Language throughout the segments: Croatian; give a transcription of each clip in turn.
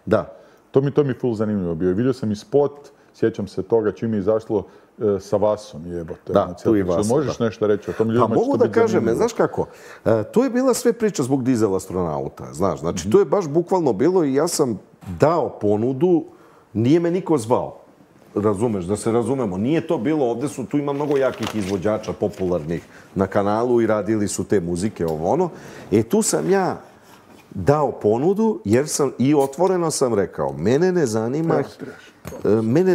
Da. To mi full zanimljivo bio. Vidio sam i spot, sjećam se toga čim je izašlo sa Vasom, jebote. Da, tu i Vasa. Možeš nešto reći o tom ljudima? Pa mogu da kažem, znaš kako, to je bila sve priča zbog dizel astronauta, znaš, znači to je baš bukvalno bilo i ja sam dao ponudu, nije me niko zvao, razumeš, da se razumemo, nije to bilo, ovdje tu ima mnogo jakih izvođača popularnih na kanalu i radili su te muzike, ovo ono, tu sam ja dao ponudu, jer sam i otvoreno sam rekao, mene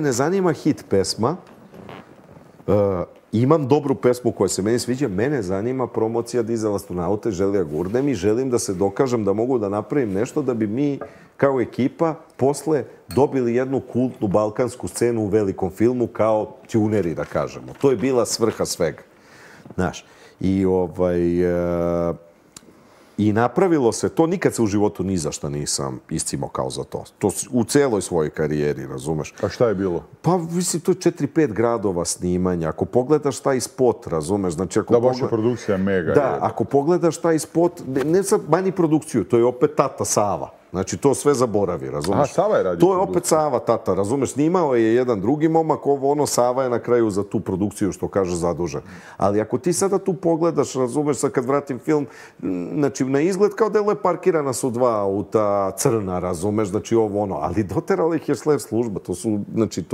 ne zanima hit pesma, imam dobru pesmu koja se meni sviđa, mene zanima promocija dizel astronaute, želim da gurnem i želim da se dokažem da mogu da napravim nešto da bi mi kao ekipa posle dobili jednu kultnu balkansku scenu u velikom filmu kao tuneri, da kažemo. To je bila svrha svega. Znaš, i napravilo se to, nikad se u životu ni za šta nisam iscimao kao za to. To u celoj svojoj karijeri, razumeš? A šta je bilo? Pa, mislim, to je 4-5 gradova snimanja. Ako pogledaš taj spot, razumeš? Znači, da, vaša produkcija je mega. Da, ako pogledaš taj spot, ne sad manji produkciju, to je opet tata Sava. Znači, to sve zaboravi, razumeš? Aha, Sava je radio to je opet Sava, tata, razumeš? Snimao je jedan drugi momak, Sava je na kraju za tu produkciju, što kaže, zadužen. Ali ako ti sada tu pogledaš, razumeš, sad kad vratim film, znači, na izgled kao delo je parkirana su dva auta, crna, razumeš, znači ali doterala ih je slev služba, to su, znači,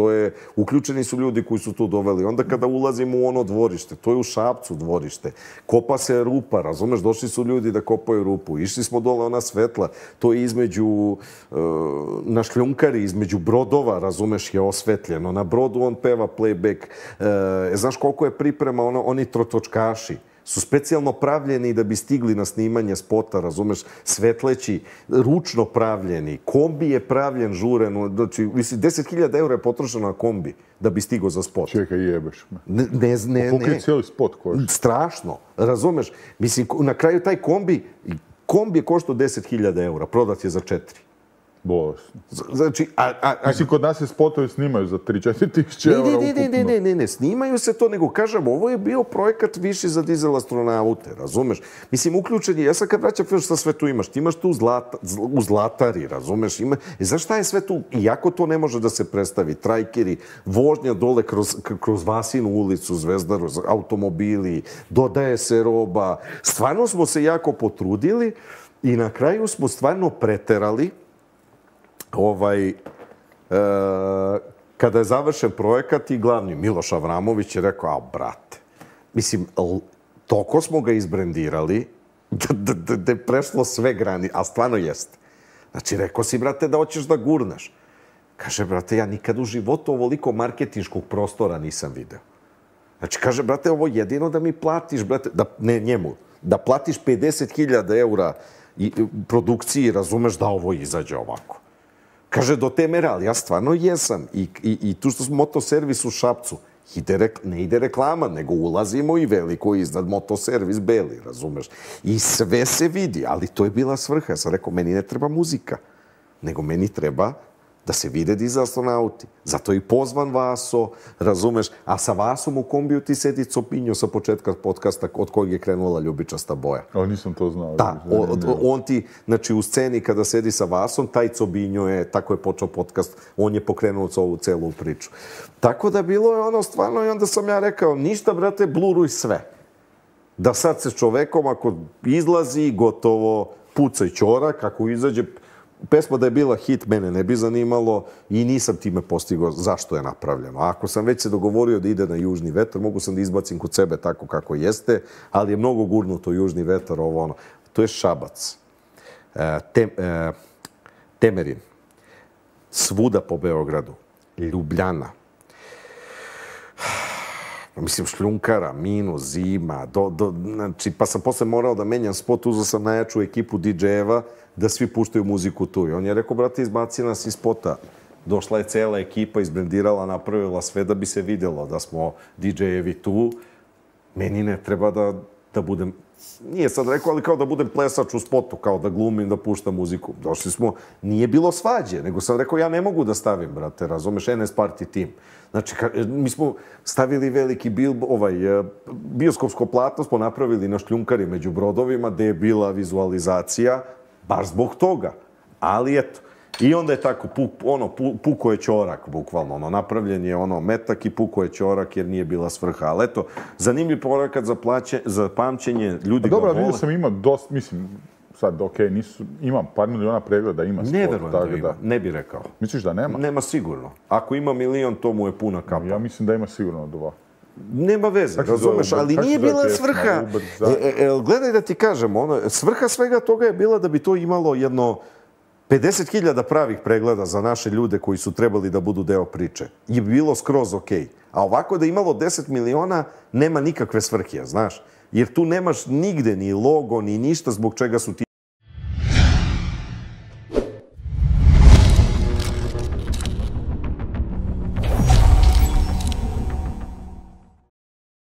uključeni su ljudi koji su tu doveli. Onda kada ulazimo u ono dvorište, to je u Šapcu dvorište, kopa se rupa, razumeš, došli su ljudi da kopaju rupu, išli smo dole ona svetla, to je na šljunkari, između brodova, razumeš, je osvetljeno. Na brodu on peva playback. Znaš koliko je priprema, oni trotočkaši su specijalno pravljeni da bi stigli na snimanje spota, razumeš, svetleći, ručno pravljeni. Kombi je pravljen žureno, znači, mislim, 10.000 € je potrošeno na kombi da bi stigao za spot. Čekaj, jebeš me. Ne. Koliko je cijeli spot koš? Strašno, razumeš. Mislim, na kraju taj kombi je koštao 10.000 €, prodat je za 4. Bolesno. Znači, mislim, kod nas se spotovi snimaju za 3-4 tisuće € ukupno. Ne, snimaju se to, nego kažem, ovo je bio projekat viši za dizel astronaute, razumeš? Mislim, uključen je, ja sad kad vraćam film, šta sve tu imaš? Ti imaš tu u Zlatari, razumeš? Znaš šta je sve tu? Iako to ne može da se predstavi, trajkeri, vožnja dole kroz Vasinu ulicu, Zvezdaru, automobili, dodaje se roba. Stvarno smo se jako potrudili i na kraju smo stvarno preterali. Kada je završen projekat i glavni Miloš Avramović je rekao, brate, mislim, toliko smo ga izbrendirali da je prešlo sve grani, a stvarno jeste. Znači, rekao si, brate, da hoćeš da gurnaš. Kaže, brate, ja nikad u životu ovoliko marketinškog prostora nisam video. Znači, kaže, brate, ovo jedino da mi platiš, brate, ne njemu, da platiš 50.000 € produkciji, razumeš da ovo izađe ovako. Kaže, do te mere, ali ja stvarno jesam. I tu što smo motoservis u Šapcu, ne ide reklama, nego ulazimo i veliko iznad motoservis beli, razumeš? I sve se vidi, ali to je bila svrha. Ja sam rekao, meni ne treba muzika, nego meni treba da se vide dizel astronauti. Zato je i pozvan Vaso, razumeš? A sa Vasom u kombiju ti sedi Copinjo sa početka podcasta od kojeg je krenula Ljubičasta boja. Ali nisam to znao. Da, on ti, znači u sceni kada sedi sa Vasom, taj Cobinjo je, tako je počeo podcast, on je pokrenuo ovu celu priču. Tako da bilo je ono stvarno i onda sam ja rekao, ništa brate, bluruj sve. Da sad se čovekom ako izlazi, gotovo, pucaj ćorak, ako izađe, pesma da je bila hit, mene ne bi zanimalo i nisam time postigao zašto je napravljeno. Ako sam već se dogovorio da ide na Južni vetar, mogu sam da izbacim kod sebe tako kako jeste, ali je mnogo gurnuto Južni vetar, ovo ono. To je Šabac, Temerin, svuda po Beogradu, Ljubljana, mislim šljunkara, minus, zima, znači, pa sam posle morao da menjam spot, uzao sam najjaču ekipu DJ-eva da svi puštaju muziku tu. I on je rekao, brate, izbaci nas iz spota. Došla je cela ekipa, izbrendirala, napravila sve da bi se vidjelo da smo DJ-evi tu. Meni ne treba da budem, nije sad rekao, ali kao da budem plesač u spotu, kao da glumim, da puštam muziku. Došli smo, nije bilo svađe, nego sam rekao, ja ne mogu da stavim, brate, razumeš, NS Party Team. Znači, mi smo stavili veliki bioskopsko platno, smo napravili na šljunkari među brodovima, gde je bila vizualizacija, baš zbog toga. Ali eto, I onda je tako, puko je ćorak, bukvalno, napravljen je metak i puko je ćorak jer nije bila svrha. Ali eto, zanimljiv porakat za pamćenje, ljudi ga vole. Dobro, vidio sam ima dosta, mislim, sad, imam par miliona pregleda, ima sport. Ne verujem da ima, ne bi rekao. Misliš da nema? Nema sigurno. Ako ima 1.000.000, to mu je puna kapa. Ja mislim da ima sigurno 2. Nema veze, razumeš, ali nije bila svrha. Gledaj da ti kažem, svrha svega toga je bila da bi to imalo jedno 50.000 pravih pregleda za naše ljude koji su trebali da budu deo priče. Je bilo skroz okej. A ovako da imalo 10 miliona, nema nikakve svrhe, znaš. Jer tu nemaš nigde ni logo, ni ništa zbog čega su ti